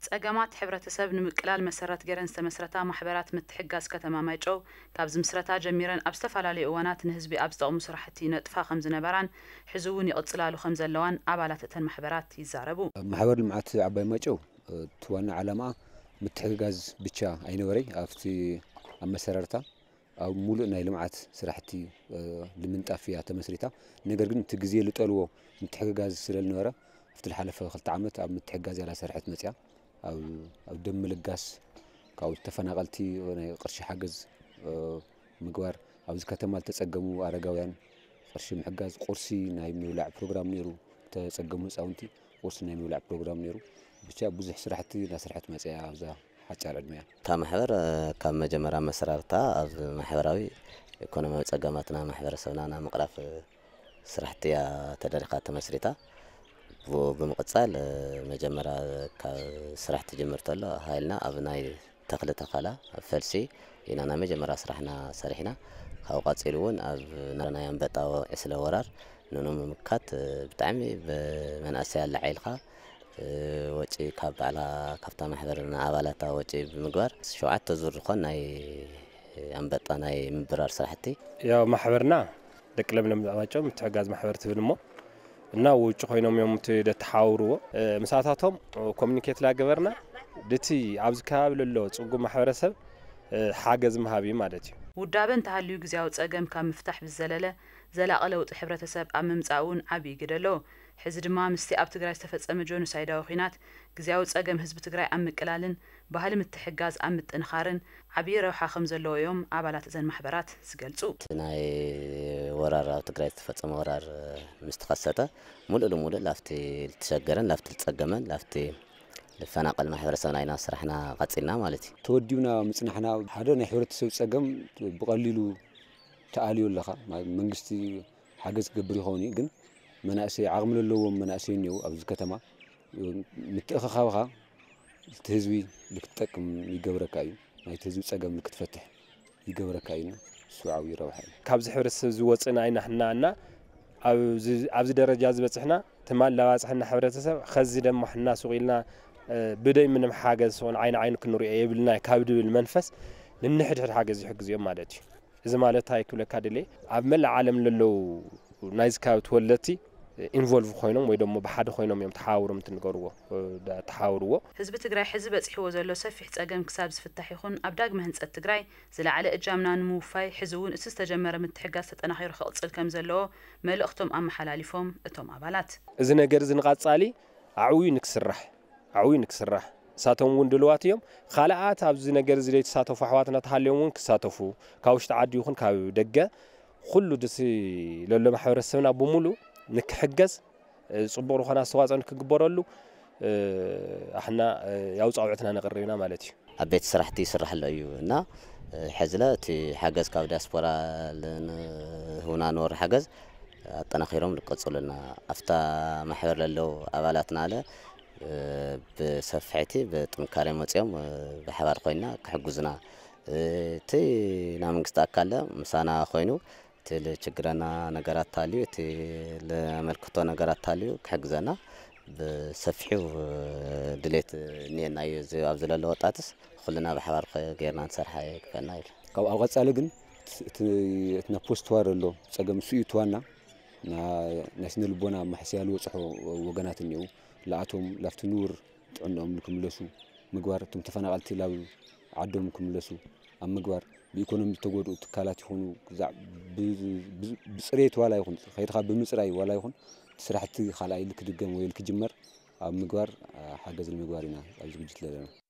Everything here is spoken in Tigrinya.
ጸገማት ሕብረተሰብ ንምቅላል መሰረት ገይረን ዝተመስረታ ማሕበራት ምትሕጋዝ ከተማ ማይጨው፣ ካብ ዝምስረታ ጀሚረን ኣብ ዝተፈላለዩ እዋናት ንህዝቢ ኣብ ዝጠቕሙ ስራሕቲ ይነጥፋ ከም ዝነበራን፣ ሕዚ እውን ይቕጽላሉ ከም ዘለዋን ኣባላት እተን ማሕበራት ይዛረቡ። ማሕበር ልምዓት ዓባይ ማይጨው፣ እቲ ዋና ዓላማኣ ምትሕግጋዝ ብቻ ኣይነበረይ። ኣብቲ ኣመሰራርታ ኣብ ሙሉእ ናይ ልምዓት ስራሕቲ፣ እ፣ ንምንጣፍ እያ ተመስሪታ። ነገር ግን እቲ ግዜ ልጠልዎ ምትሕግጋዝ ስለ ዝነበረ፣ ኣብቲ ዝሓለፈ ክልተ ዓመት ኣብ ምትሕግጋዝ እያ ላሰርሐት መፅያ። ኣብ፣ ኣብ ደም ምልጋስ፣ ካብኡ ተፈናቐልቲ ናይ ቅርሺ ሓገዝ፣ እ፣ ምግባር፣ ኣብዚ ከተማ ዝተፀገሙ ኣረጋውያን ቅርሺ ምሕጋዝ፣ ቁርሲ ናይ ምብላዕ ፕሮግራም ነይሩ። ዝተፀገሙ ህፃውንቲ ቁርሲ ናይ ምብላዕ ፕሮግራም ነይሩ። ብቻ ብዙሕ ስራሕቲ እናሰርሐት መፅያ ኣብዛ ሓጫር ዕድመያ። እታ ማሕበር፣ እ፣ ካብ መጀመርያ መሰራርታ ኣብ ማሕበራዊ ኢኮኖሚያዊ ጸገማትና ማሕበረሰብና ናብ ምቕራፍ፣ እ፣ ስራሕቲ እያ ተደሪኻ ተመስሪታ። ብኡ ብምቕጻል፣ እ፣ መጀመርያ ካብ ስራሕ ትጅምር ተሎ ሃይልና ኣብ ናይ ተኽሊ ተኸላ፣ ኣብ ፈልሲ ኢና ናይ መጀመርያ ስራሕና ሰሪሕና። ካብኡ ቀጺሉ እውን ኣብ ናይ ኣንበጣ ወ-፣ ዕስለ ወራር ንንምክት፣ እ፣ ብጣዕሚ ብመንእሰይ ኣላዒልካ፣ እ፣ ወጪ ካብ ባዕላ፣ ካብታ ማሕበር ንኣባላታ ወጪ ብምግባር ሸውዓተ ዙር ዝኾን ናይ ኣንበጣ ናይ ምብራር ስራሕቲ። ያው ማሕበርና ደቂ ለምለም ማይጨው ምትሕጋዝ ማሕበር ትብል እሞ፣ እና ውጭ ኮይኖም እዮም እቲ ደተሓውርዎ። እ፣ ምሳታቶም ኮሚኒኬት ላገበርና ድቲ ኣብዚ ከባቢ ለሎ ጽጉም ማሕበረሰብ፣ እ፣ ሓገዝ ምሃብ እዩ ማለት እዩ። ውዳበ እንተሃልዩ ግዜያዊ ጸገም ካብ ምፍታሕ ብዝዘለለ ዘላቒ ለውጢ ሕብረተሰብ ኣብ ምምጻእ እውን ዓብዪ ግደ ኣለዎ። ሕዚ ድማ ምስቲ ኣብ ትግራይ ዝተፈጸመ ጆኖሳይዳዊ ኲናት ግዜያዊ ጸገም ህዝቢ ትግራይ ኣብ ምቅላልን ባህሊ ምትሕጋዝ ኣብ ምጥንኻርን ዓብዪ ረብሓ ከም ዘለዎ እዮም ኣባላት እዘን ማሕበራት ዝገልጹ። እቲ ናይ ወራር፣ ኣብ ትግራይ ዝተፈጸመ ወራር ምስ ተኸሰተ፣ ሙሉእ ልሙሉእ ላፍቲ ልተሸገረን ላፍቲ ልጸገመን ላፍቲ ልፈናቀል ማሕበረሰብና ኢና ስራሕና ቀጺልና ማለት እዩ። ተወዲብና ምጽናሕና ሓደ ናይ ሕብረተሰብ ጸገም ብቐሊሉ ተኣልዮ ኣለኻ። ማ-፣ መንግስቲ ሓገዝ ክገብር ይኸውን እዩ፣ ግን መናእሰይ፣ ዓቕሚ ለለዎም መናእሰይ እኒአው ኣብዚ ከተማ። ምትእኽኻብኻ እቲ ህዝቢ ልክትጠቅም ይገብረካ እዩ፣ ናይቲ ህዝቢ ጸገም ልክትፈትሕ ይገብረካ እዩ። እሱ ዓብዪ ረብሓ እዩ። ካብዚ ሕብረተሰብ ዝወፅእና ኢና ሕና እና ኣብዚ፣ ኣብዚ ደረጃ ዝበፅሕና ትማል ላባፅሐና ሕብረተሰብ ኸዚ ደሞ ሕና ሱቕ ኢልና፣ እ፣ ብደይ ምንም ሓገዝ ዝኾነ ዓይኒ ዓይኑ ክንሪኦ የብልና ካብ ድብል መንፈስ ንንሕድሕድ ሓገዝ ይሕግዝ እዮም ማለት እዩ። እዚ ማለት እንታይ ክብለካ ደልየ፣ ኣብ መላእ ዓለም ለለዉ ናይዚ ከባቢ ተወለድቲ ኢንቮልቭ ኮይኖም ወይ ደሞ ብሓደ ኮይኖም እዮም ተሓባብሮም እንትንገርዎ፣ እ፣ ዳ-፣ ተሓባብርዎ። ህዝቢ ትግራይ ሕዚ በፂሕዎ ዘሎ ሰፊሕ ፀገም ክሳብ ዝፍታሕ ይኹን ኣብ ዳግመ ህንፀት ትግራይ ዝለዓለ እጃምና ንምውፋይ ሕዚ እውን እቲ ዝተጀመረ ምትሕጋዝ ተጠናኺሩ ክቕፅል ከም ዘለዎ መልእኽቶም ኣመሓላሊፎም እቶም ኣባላት። እዚ ነገር እዚ ንቐፃሊ ኣዕብዩ ንክስራሕ፣ ኣዕብዩ ንክስራሕ፣ ንሳቶም እውን ድልዋት እዮም። ካልኣት ኣብዚ ነገር እዚ ዘይተሳተፉ ኣሕዋትና ተሃልዮም እውን ክሳተፉ፣ ካብ ውሽጢ ዓዲ ይኹን ካብ ደገ፣ ኩሉ ድሲ ለሎ ማሕበረሰብና ብምሉእ ንክሕገዝ፣ እ፣ ጽቡቕ ዝኾነ ኣስተዋጽኦ ንክግበረሉ፣ እ፣ ኣሕና፣ እ፣ ያው ጻውዕትና ነቕርብ ኢና ማለት እዩ። ኣብ ቤት ስራሕቲ ይስራሕ ኣሎ እዩ እና፣ እ፣ ሕዝለ እቲ ሓገዝ ካብ ዲያስፖራ ልንህውና ንወሪ ሓገዝ ኣጠናኺሮም ልቀጽሉና። ኣብታ ማሕበር ለለው ኣባላትና ኣለ፣ እ፣ ብሰፍሕቲ ብጥንካሬ መጺኦም፣ እ፣ ብሓባር ኮይና ክሕግዙና፣ እ፣ እቲ ናይ መንግስቲ ኣካል ምሳና ኮይኑ እቲ ልችግረና ነገራት ታልዩ፣ እቲ ለመልክቶ ነገራት ታልዩ ክሕግዘና ብሰፊሑ ድሌት እኒኤና እዩ። እዚ ኣብዚ ለሎ ወጣትስ ኩልና ብሓባር ጌርና ንሰርሓ ይግበና ኢሉ። ካብ ኣብ ቀጻሊ ግን እቲ፣ እቲ፣ እቲ ናብ ፖስት ዋር ኣሎ ጸገም እሱ እዩ እቲ ዋና። ና-፣ ናይ ስነ ልቦና ማሕስያ ልበጽሖ ወገናት እኒአው። ለኣቶም ላፍቲ ንቡር ጥዕንኦም ንክምለሱ ምግባር፣ እቶም ተፈናቐልቲ ላብ ዓዶም ክምለሱ ኣብ ምግባር፣ ብኢኮኖሚ ዝተጎድኡ ትካላት ይኹኑ፣ ክዛዕ ብ-፣ ብ-፣ ብፅሬት ዋላ ይኹን፣ ከይድኻ ብምፅራይ ዋላ ይኹን፣ እቲ ስራሕቲ ካልኣይ ልክድገም ወይ ልክጅመር ኣብ ምግባር፣ አ፣ ሓገዝ ንምግባር ኢና ኣብ ዝግጅት ዘለና።